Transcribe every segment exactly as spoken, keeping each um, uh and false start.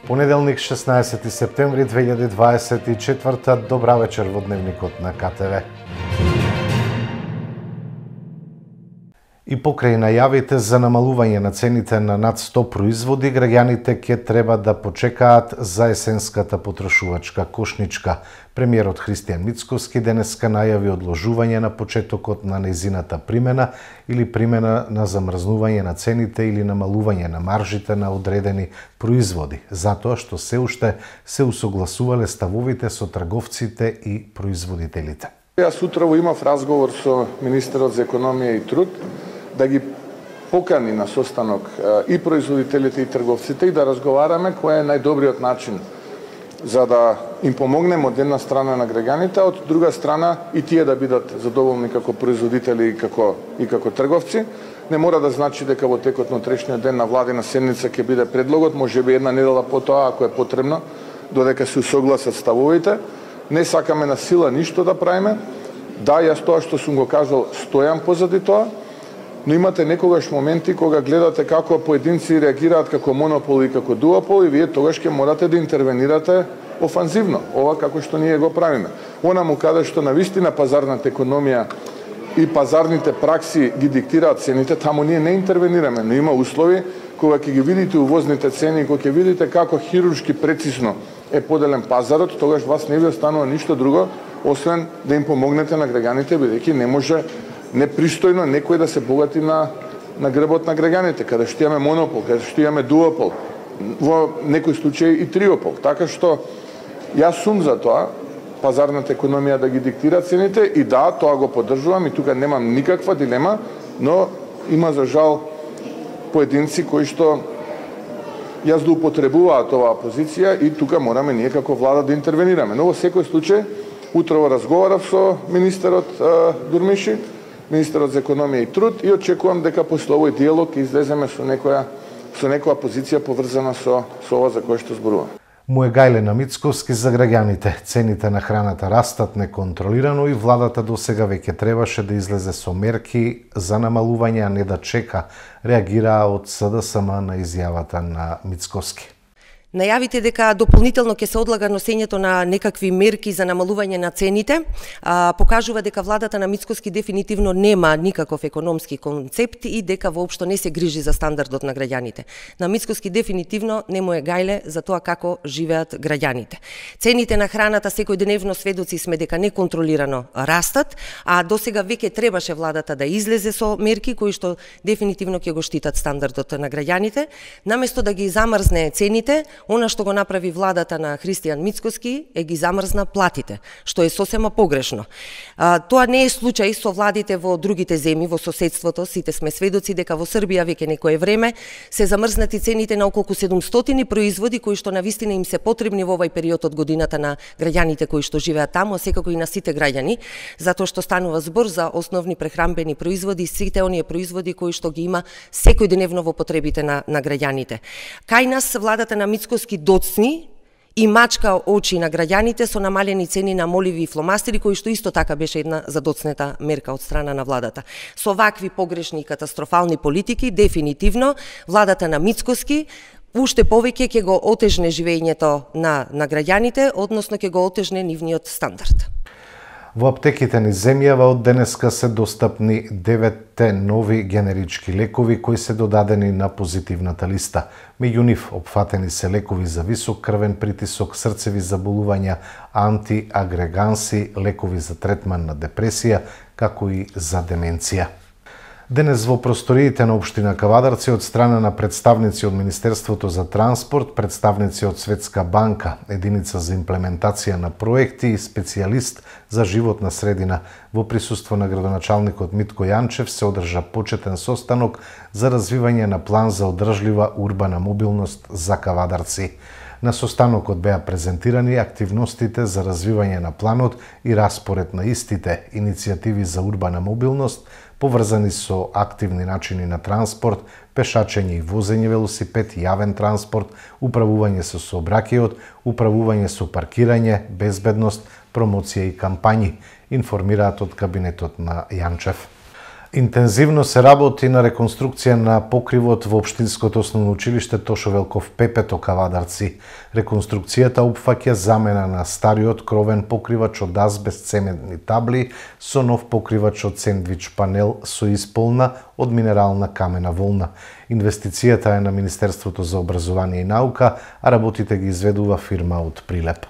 Понеделник, шеснаесети септември две илјади дваесет и четврта. Добра вечер во Дневникот на Ка Те Ве. И покрај најавите за намалување на цените на над сто производи, граѓаните ќе треба да почекаат за есенската потрошувачка кошничка. Премиерот Христијан Мицкоски денеска најави одложување на почетокот на нејзината примена или примена на замрзнување на цените или намалување на маржите на одредени производи, затоа што се уште се усогласувале ставовите со трговците и производителите. Јас утрово имав разговор со министерот за економија и труд да ги покани на состанок и производителите и трговците и да разговараме кој е најдобриот начин за да им помогнеме од една страна на граѓаните, од друга страна и тие да бидат задоволни како производители и како и како трговци. Не мора да значи дека во текот на утрешниот ден на владина седница ќе биде предлогот, можеби една недела потоа ако е потребно, додека се усогласат ставовите. Не сакаме на сила ништо да правиме. Да, јас тоа што сум го кажал стојам позади тоа, но имате некогаш моменти кога гледате како поединци реагираат како монопол и како дуопол и вие тогаш ќе морате да интервенирате офанзивно, ова како што ние го правиме. Онаму каде што навистина пазарната економија и пазарните пракси ги диктираат цените, таму ние не интервенираме, но има услови кога ќе ги видите увозните цени, кога ќе видите како хируршки прецизно е поделен пазарот, тогаш вас не ви останува ништо друго освен да им помогнете на граѓаните, бидејќи не може непристојно некој да се богати на на грбот на граѓаните, каде што имаме монопол, каде што имаме дуопол, во некој случај и триопол. Така што јас сум за тоа пазарната економија да ги диктира цените и да, тоа го поддржувам и тука немам никаква дилема, но има за жал поединци кои што јас да употребуваат оваа позиција и тука мораме ние како влада да интервенираме. Но во секој случај утрово разговарав со министерот Дурмиши, министерот за економија и труд и очекувам дека после овој диалог ќе излеземе со некоја со некоја позиција поврзана со со ова за кое што зборувам. Му е Гајлена Мицкоски за граѓаните. Цените на храната растат неконтролирано и владата досега веќе требаше да излезе со мерки за намалување, а не да чека, реагираа од С Д С М на изјавата на Мицкоски. Најавите дека дополнително ќе се одлага носењето на некакви мерки за намалување на цените, а, покажува дека владата на Мицкоски дефинитивно нема никаков економски концепт и дека воопшто не се грижи за стандардот на граѓаните. На Мицкоски дефинитивно не му е гајле за тоа како живеат граѓаните. Цените на храната секојдневно сведоци сме дека неконтролирано растат, а досега веќе требаше владата да излезе со мерки кои што дефинитивно ќе го штитат стандардот на граѓаните, наместо да ги замрзне цените. Она што го направи владата на Христијан Мицкоски е ги замрзна платите, што е сосема погрешно. А, тоа не е случај со владите во другите земји, во соседството. Сите сме сведоци дека во Србија веќе некое време се замрзнати цените на околку седумстотини производи кои што навистина им се потребни во овој период од годината на граѓаните кои што живеат таму, а секако и на сите граѓани, затоа што станува збор за основни прехранбени производи, сите оние производи кои што ги има секојдневно во потребите на, на граѓаните. Кај нас владата на Мицкоски доцни и мачка очи на граѓаните со намалени цени на моливи и фломастери, кои што исто така беше една задоцнета мерка од страна на владата. Со вакви погрешни и катастрофални политики, дефинитивно, владата на Мицкоски уште повеќе ќе го отежне живењето на, на граѓаните, односно ќе го отежне нивниот стандард. Во аптеките низ земјава од денеска се достапни деветте нови генерички лекови кои се додадени на позитивната листа. Меѓу нив опфатени се лекови за висок крвен притисок, срцеви заболувања, антиагреганси, лекови за третман на депресија, како и за деменција. Денес во просториите на општина Кавадарци од страна на представници од Министерството за транспорт, представници од Светска банка, единица за имплементација на проекти и специјалист за животна средина, во присуство на градоначалникот Митко Јанчев се одржа почетен состанок за развивање на план за одржлива урбана мобилност за Кавадарци. На состанокот беа презентирани активностите за развивање на планот и распоред на истите, иницијативи за урбана мобилност, поврзани со активни начини на транспорт, пешачење и возење велосипед, јавен транспорт, управување со сообраќајот, управување со паркирање, безбедност, промоција и кампањи, информираат од кабинетот на Јанчев. Интензивно се работи на реконструкција на покривот во Општинското основно училиште Тошо Велков Пепето Кавадарци. Реконструкцијата опфаќа замена на стариот кровен покривач од азбест цементни табли со нов покривач од сендвич панел со исполна од минерална камена волна. Инвестицијата е на Министерството за образование и наука, а работите ги изведува фирма од Прилеп.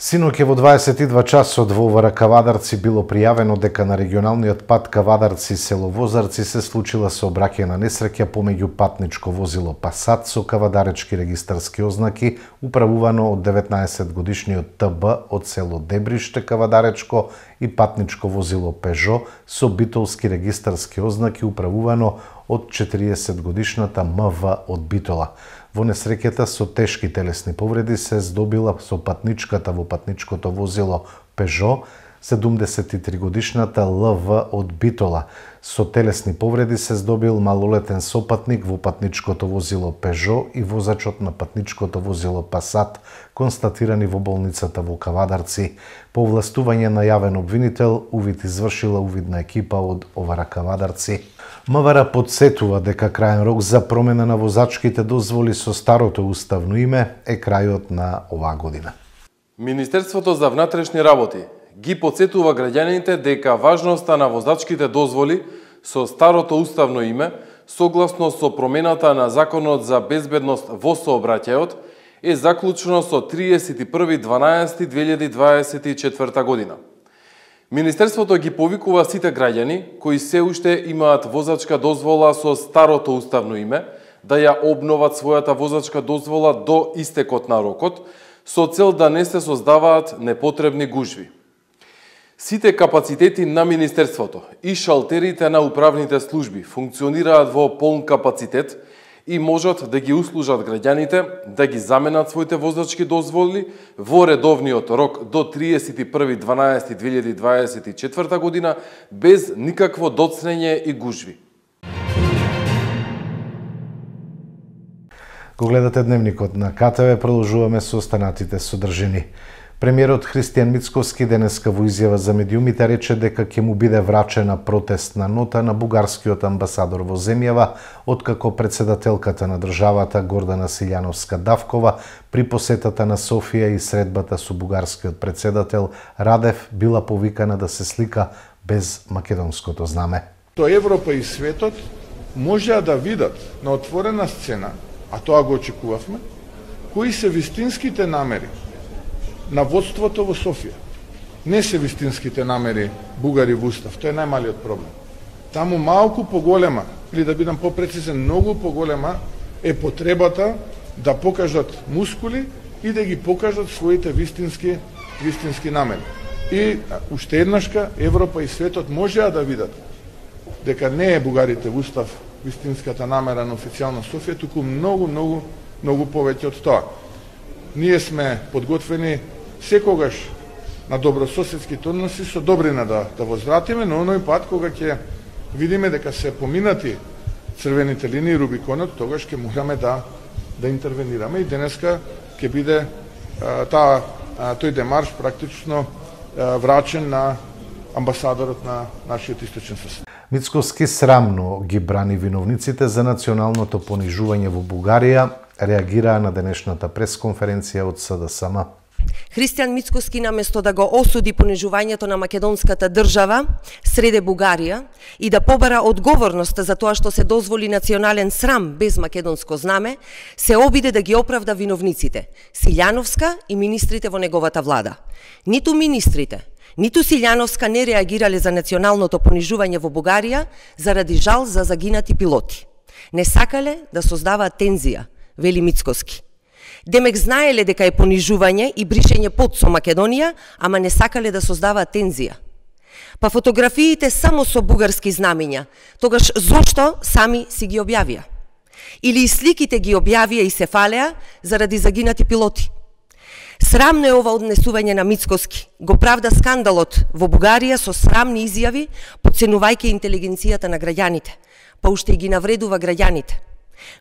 Синоќ во дваесет и два часот во Овара Кавадарци било пријавено дека на регионалниот пат Кавадарци село Возарци се случила сообраќајна несреќа помеѓу патничко возило Пасат со кавадаречки регистарски ознаки, управувано од деветнаесет годишниот Т Б од село Дебриште Кавадаречко и патничко возило Пежо со битолски регистарски ознаки, управувано од четириесет годишната М В од Битола. Во несреќата со тешки телесни повреди се здобила со патничката во патничкото возило Пежо, седумдесет и три годишната Л В од Битола. Со телесни повреди се здобил малолетен сопатник во патничкото возило Пежо и возачот на патничкото возило Пасат, констатирани во болницата во Кавадарци. По овластување на јавен обвинител, увид извршила увидна екипа од Овара Кавадарци. МВР подсетува дека крајен рок за промена на возачките дозволи со старото уставно име е крајот на оваа година. Министерството за внатрешни работи ги подсетува граѓаните дека важноста на возачките дозволи со старото уставно име, согласно со промената на Законот за безбедност во сообраќајот, е заклучено со триесет и први дванаесети две илјади дваесет и четврта година. Министерството ги повикува сите граѓани кои се уште имаат возачка дозвола со старото уставно име да ја обноват својата возачка дозвола до истекот на рокот, со цел да не се создаваат непотребни гужви. Сите капацитети на Министерството и шалтерите на управните служби функционираат во полн капацитет и можат да ги услужат граѓаните да ги заменат своите возачки дозволи во редовниот рок до триесет и први дванаесети две илјади дваесет и четврта година без никакво доцнење и гужви. Го гледате Дневникот на К Т В, продолжуваме со останатите содржини. Премиерот Христијан Мицкоски денеска во изјава за медиумите рече дека ќе му биде врачена протестна нота на бугарскиот амбасадор во земјава, откако председателката на државата Гордана Силјановска-Давкова при посетата на Софија и средбата со бугарскиот председател Радев била повикана да се слика без македонското знаме. То Европа и светот можеа да видат на отворена сцена, а тоа го очекувавме, кои се вистинските намери на водството во Софија. Не се вистинските намери бугари во устав, тоа е најмалиот проблем. Таму малку поголема, или да бидам попрецизен, многу поголема е потребата да покажат мускули и да ги покажат своите вистински вистински намери. И уште еднашка Европа и светот можеа да видат дека не е бугарите во устав вистинската намера на официјална Софија, туку многу, многу, многу повеќе од тоа. Ние сме подготвени секогаш на добрососедските односи со добрина да, да возвратиме, но оној пат кога ќе видиме дека се поминати црвените линии, Рубиконот, тогаш ќе мораме да да интервенираме и денеска ќе биде а, таа а, тој демарш практично а, врачен на амбасадорот на нашиот источен сосед. Мицкоски срамно ги брани виновниците за националното понижување во Бугарија, реагираа на денешната пресконференција од С Д С М. Христијан Мицкоски наместо да го осуди понижувањето на македонската држава среде Бугарија и да побара одговорност за тоа што се дозволи национален срам без македонско знаме, се обиде да ги оправда виновниците, Силјановска и министрите во неговата влада. Ниту министрите, ниту Силјановска не реагирале за националното понижување во Бугарија заради жал за загинати пилоти. Не сакале да создаваат тензија, вели Мицкоски. Демек знаеле дека е понижување и бришење под со Македонија, ама не сакале да создаваат тензија. Па фотографиите само со бугарски знамиња, тогаш зошто сами си ги објавија? Или и сликите ги објавија и се фалеа заради загинати пилоти? Срамно е ова однесување на Мицкоски. Го правда скандалот во Бугарија со срамни изјави, подценувајќи интелигенцијата на граѓаните, па уште и ги навредува граѓаните.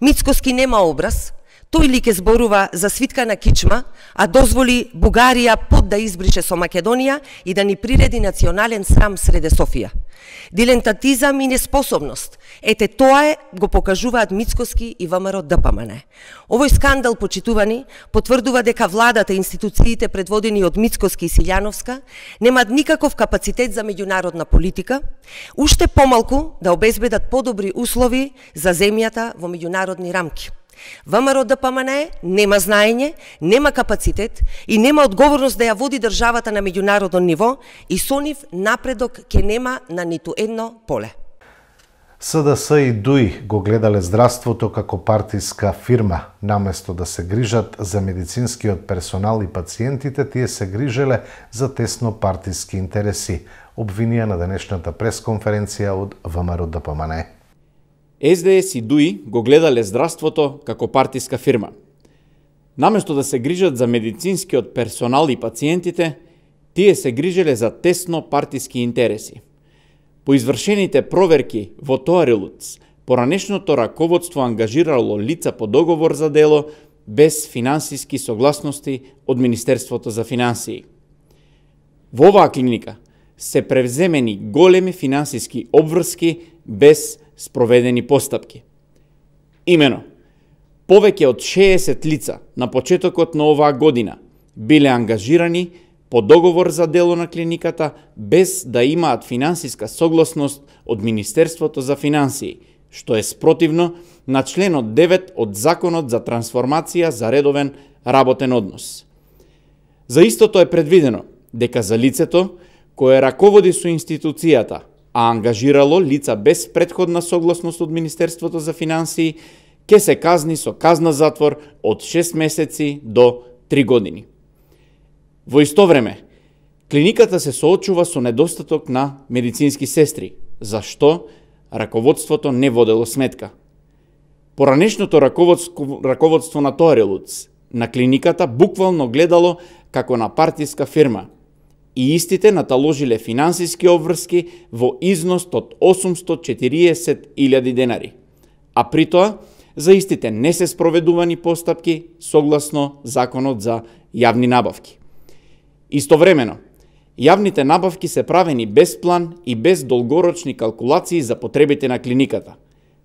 Мицкоски нема образ, Тој ли ке зборува за свитка на кичма, а дозволи Бугарија под да избрише со Македонија и да ни приреди национален срам среде Софија. Дилентатизам и неспособност. Ете тоа е, го покажуваат Мицкоски и ВМРО Д П М Н. Овој скандал, почитувани, потврдува дека владата и институциите предводени од Мицкоски и Силјановска немаат никаков капацитет за меѓународна политика, уште помалку да обезбедат подобри услови за земјата во меѓународни рамки. ВМРО Д П М Н нема знаење, нема капацитет и нема одговорност да ја води државата на меѓународно ниво и со нив напредок ке нема на ниту едно поле. С Д С и Д У И го гледале здравството како партиска фирма. Наместо да се грижат за медицинскиот персонал и пациентите, тие се грижеле за тесно партиски интереси, обвинија на денешната пресконференција од ВМРО Д П М Н. С Д С и Д У И го гледале здравството како партиска фирма. Наместо да се грижат за медицинскиот персонал и пациентите, тие се грижеле за тесно партиски интереси. По извршените проверки во Тоарилуц, поранешното раководство ангажирало лица по договор за дело без финансиски согласности од Министерството за финансии. Во оваа клиника се превземени големи финансиски обврски без спроведени постапки. Имено, повеќе од шеесет лица на почетокот на оваа година биле ангажирани по договор за дело на клиниката без да имаат финансиска согласност од Министерството за финансии, што е спротивно на членот девет од Законот за трансформација за редовен работен однос. За истото е предвидено дека за лицето кое раководи со институцијата, а ангажирало лица без претходна согласност од Министерството за финансии, ке се казни со казна затвор од шест месеци до три години. Во исто време, клиниката се соочува со недостаток на медицински сестри, за што раководството не водело сметка. Поранешното раководство, раководство на Тоарилуц на клиниката буквално гледало како на партиска фирма и истите наталожиле финансиски обврски во износ од осумстотини и четириесет илјади денари, а при тоа за истите не се спроведувани постапки согласно Законот за јавни набавки. Истовремено, јавните набавки се правени без план и без долгорочни калкулации за потребите на клиниката.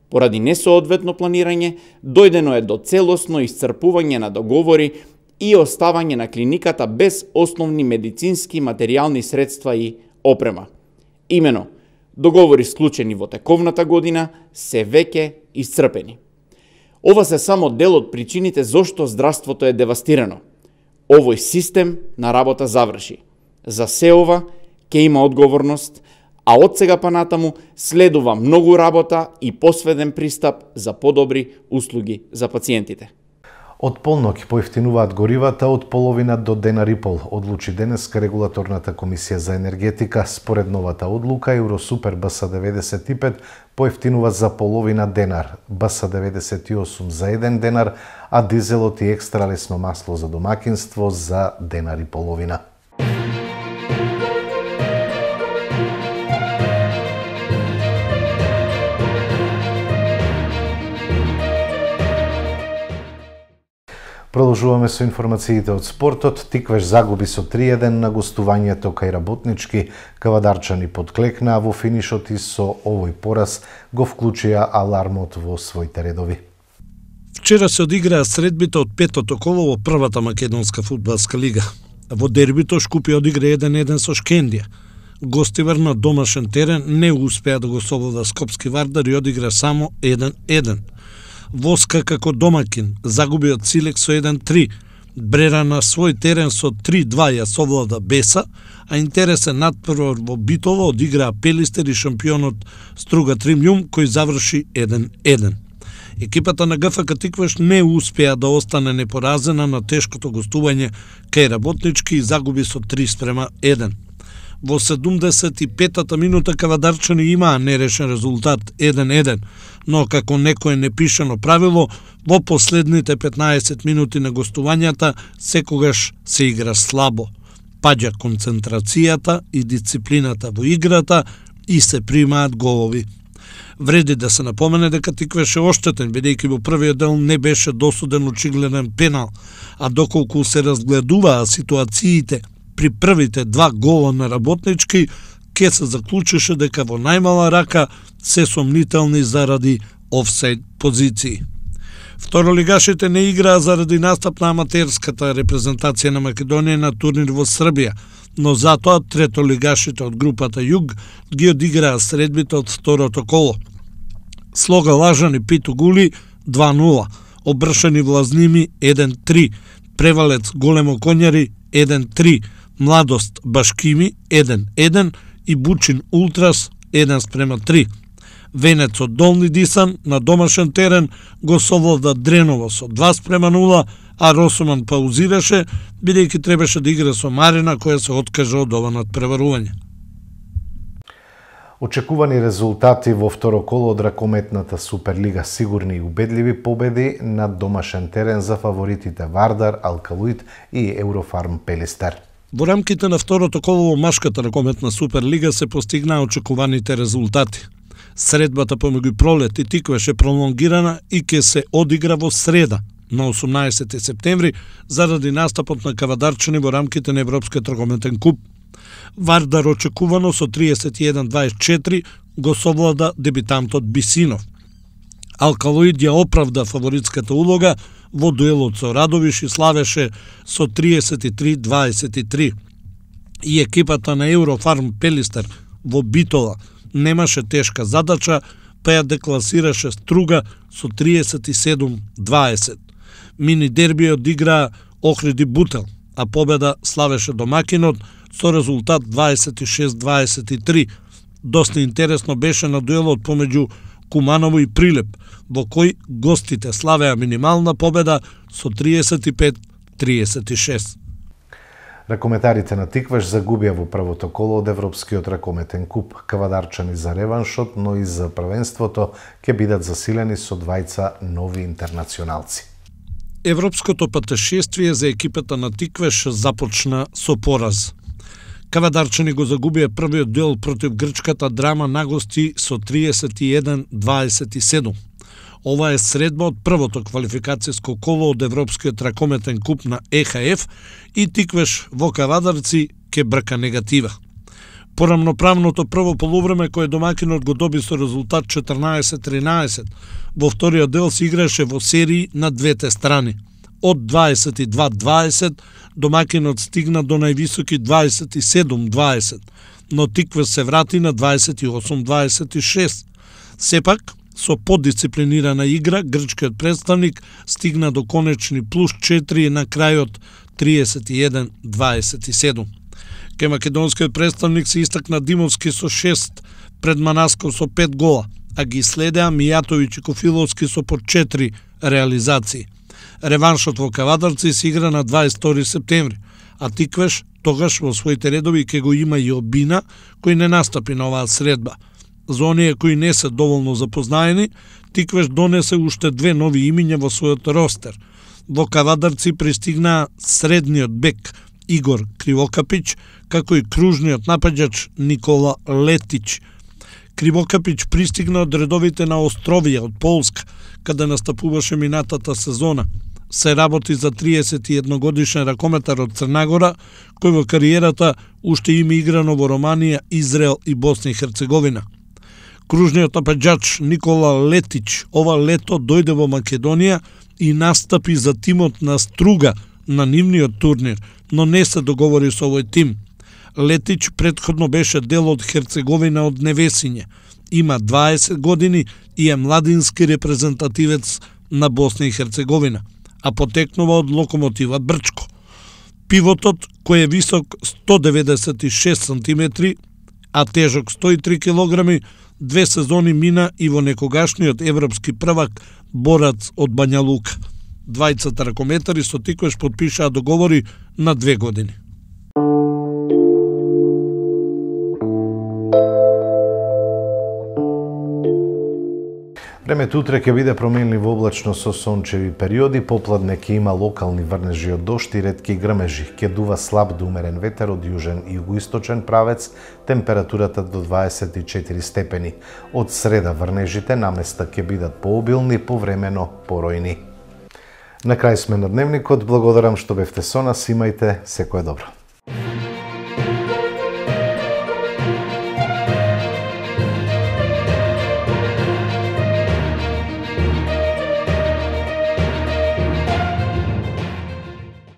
Поради несоодветно планирање, дојдено е до целосно исцрпување на договори и оставање на клиниката без основни медицински материјални средства и опрема. Имено, договори склучени во тековната година се веќе исцрпени. Ова се само дел од причините зошто здравството е девастирано. Овој систем на работа заврши. За се ова ќе има одговорност, а од сега па натаму следува многу работа и посведен пристап за подобри услуги за пациентите. Од полноќ поевтинуваат горивата од половина до денар и пол, одлучи денеска Регулаторната комисија за енергетика. Според новата одлука, Евросупер Б С деветдесет и пет поевтинува за половина денар, Б С деветдесет и осум за еден денар, а дизелот и екстра лесно масло за домакинство за денар и половина. Продолжуваме со информациите од спортот. Тиквеш загуби со три еден на гостувањето кај Работнички. Кавадарчани подклекнаа во финишот и со овој пораз го вклучија алармот во своите редови. Вчера се одиграа средбите од петото коло во првата македонска фудбалска лига. Во дербито Шкупје одигра еден еден со Шкендија. Гостивар на домашен терен не успеа да го совлада Скопски Вардар и одигра само еден еден. Воска како домакин загуби од Силек со еден три. Брера на свој терен со три два ја совлада Беса, а интересен надпревар во Битово одиграа Пелистер и шампионот Струга Тримљум кој заврши еден еден. Екипата на Г Ф К Тиквеш не успеа да остане непоразена на тешкото гостување кај Работнички и загуби со три спрема еден. Во седумдесет и петата минута кавадарчани имаа нерешен резултат еден еден, но како некое непишано правило, во последните петнаесет минути на гостувањата секогаш се игра слабо. Паѓа концентрацијата и дисциплината во играта и се примаат голови. Вреди да се напомене дека Тиквеш е оштетен, бидејќи во првиот дел не беше досуден очигледен пенал, а доколку се разгледуваа ситуациите при првите два гола на Работнички, ке се заклучеше дека во најмала рака се сомнителни заради офсайд позиции. Второлигашите не играа заради настап на аматерската репрезентација на Македонија на турнир во Србија, но затоа третолигашите од групата Југ ги одиграа средбите од второто коло. Слога Лажани Питу Гули два нула, Обршани Влазними еден три, Превалец Големо Конјари еден три, Младост Башкими еден еден и Бучин Ултрас еден спрема три. Венец од Долни Дисан на домашен терен го совлада Дреново со два спрема нула, а Росоман паузираше, бидејќи требаше да игра со Марина, која се откажа од ова надпреварување. Очекувани резултати во второ коло од ракометната Суперлига, сигурни и убедливи победи на домашен терен за фаворитите Вардар, Алкалуит и Еврофарм Пелистер. Во рамките на второто коло во машката ракометна Суперлига се постигнаа очекуваните резултати. Средбата помеѓу Пролет и Тиквеш е пролонгирана и ќе се одигра во среда, на осумнаесети септември, заради настапот на кавадарчани во рамките на Европскиот ракометен куп. Вардар очекувано со триесет и еден дваесет и четири го совлада дебитантот Бисинов. Алкалоид ја оправда фаворитската улога во дуелот со Радовиш и славеше со триесет и три дваесет и три. И екипата на Еврофарм Пелистер во Битола немаше тешка задача, па ја декласираше Струга со триесет и седум дваесет. Мини дерби одиграа Охриди Бутел, а победа славеше домакинот со резултат дваесет и шест дваесет и три. Доста интересно беше на дуелот помеѓу Куманово и Прилеп, во кој гостите славеа минимална победа со триесет и пет триесет и шест. Ракометарите на Тиквеш загубија во првото коло од Европскиот ракометен куп. Кавадарчани за реваншот, но и за првенството ќе бидат засилени со двајца нови интернационалци. Европското патешествие за екипата на Тиквеш започна со пораз. Кавадарчани го загубија првиот дуел против грчката Драма на гости со триесет и еден дваесет и седум. Ова е средба од првото квалификацијско коло од Европскиот ракометен куп на Е Х Ф и Тиквеш во Кавадарци ке брка негатива. Порамноправното прво полувреме кое домакинот го доби со резултат четрнаесет тринаесет, во вториот дел се играше во серии на двете страни. Од дваесет и два дваесет домакинот стигна до највисоки дваесет и седум дваесет, но Тиквеш се врати на дваесет и осум дваесет и шест. Сепак, со поддисциплинирана игра, грчкиот представник стигна до конечни плюс четири на крајот триесет и еден дваесет и седум. Ке македонскиот представник се истакна Димовски со шест, пред Манасков со пет гола, а ги следеа Мијатовиќ и Кофиловски со по четири реализации. Реваншот во Кавадарци се игра на дваесет и втори септември, а Тиквеш тогаш во своите редови ке го има и Обина, кој не настапи на оваа средба. За оние кои не се доволно запознаени, Тиквеш донесе уште две нови имиња во својот ростер. Во Кавадарци пристигнаа средниот бек Игор Кривокапиć, како и кружниот напаѓач Никола Летич. Кривокапиć пристигна од редовите на Островија од Полска, каде настапуваше минатата сезона. Се работи за триесет и едногодишен ракометар од Црнагора, кој во кариерата уште има играно во Романија, Израел и Босна и Херцеговина. Кружниот напаѓач Никола Летич ова лето дојде во Македонија и настапи за тимот на Струга на нивниот турнир, но не се договори со овој тим. Летич претходно беше дел од Херцеговина од Невесиње. Има дваесет години и е младински репрезентативец на Босна и Херцеговина, а потекнува од Локомотива Брчко. Пивотот, кој е висок сто деветдесет и шест сантиметри, а тежок сто и три килограми, две сезони мина и во некогашниот европски првак Борац од Бања Лука. Двајцата ракометари со Тиквеш потпишаа договори на две години. Времето утре ќе биде променливо облачно со сончеви периоди, попладне ќе има локални врнежи од дожд и ретки грмежи. Ќе дува слаб до умерен ветер од јужен и југоисточен правец, температурата до дваесет и четири степени. Од среда врнежите наместа ќе бидат пообилни, повремено поројни. На крај сме на дневникот, благодарам што бевте со нас, имајте секое добро.